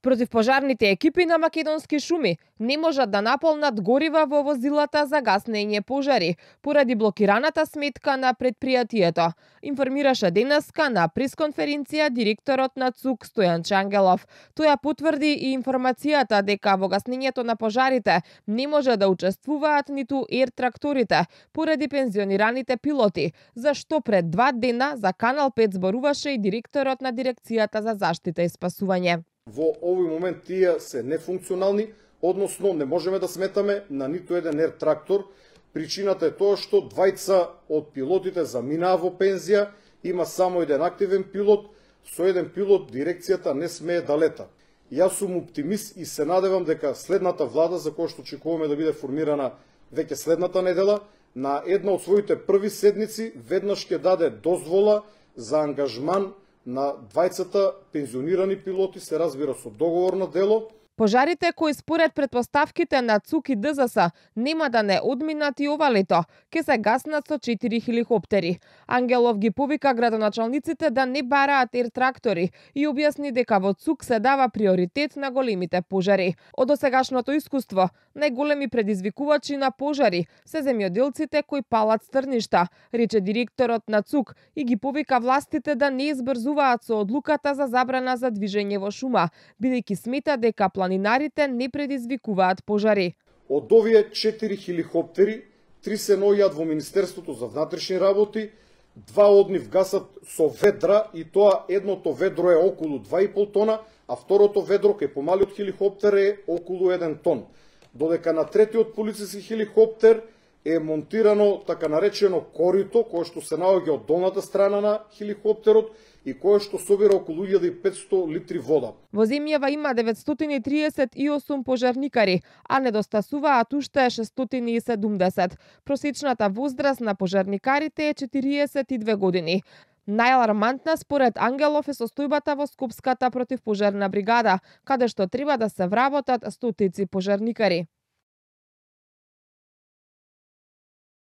Противпожарните екипи на Македонски шуми не можат да наполнат горива во возилата за гаснење пожари поради блокираната сметка на предпријатието, информираше денеска на пресконференција директорот на ЦУК Стојан Чангелов. Тој ја потврди и информацијата дека во гаснењето на пожарите не може да учествуваат ниту ер-тракторите поради пензионираните пилоти, за што пред 2 дена за Канал 5 зборуваше и директорот на дирекцијата за заштита и спасување. Во овој момент тие се нефункционални, односно не можеме да сметаме на ниту еден ер-трактор. Причината е тоа што двајца од пилотите заминаа во пензија, има само еден активен пилот, со еден пилот дирекцијата не смее да лета. Јас сум оптимист и се надевам дека следната влада, за која што очекуваме да биде формирана веќе следната недела, на една од своите први седници веднаш ќе даде дозвола за ангажман на двајцата пензионирани пилоти, се разбира со договорно дело. Пожарите кои според претпоставките на ЦУК и ДЗС нема да не одминат и ова лето, ке се гаснат со 4 хеликоптери. Ангелов ги повика градоначалниците да не бараат ер-трактори и објасни дека во ЦУК се дава приоритет на големите пожари. Од досегашното искуство, најголеми предизвикувачи на пожари се земјоделците кои палат стрништа, рече директорот на ЦУК и ги повика властите да не избрзуваат со одлуката за забрана за движење во шума, бидејќи смета дека планинарите не предизвикуваат пожари. Од овие 4 хеликоптери, 3 се наоѓаат во Министерството за внатрешни работи, 2 од нив гасат со ведра и тоа едното ведро е околу 2,5 тона, а второто ведро кај помалиот хеликоптер е околу 1 тон. Додека на третиот полициски хеликоптер е монтирано така наречено корито, кое што се наоѓа од долната страна на хеликоптерот и кое што собира околу 1500 литри вода. Во земјава има 938 пожарникари, а недостасуваат уште 670. Просечната возраст на пожарникарите е 42 години. Најалармантна според Ангелов е состојбата во Скопската противпожарна бригада, каде што треба да се вработат стотици пожарникари.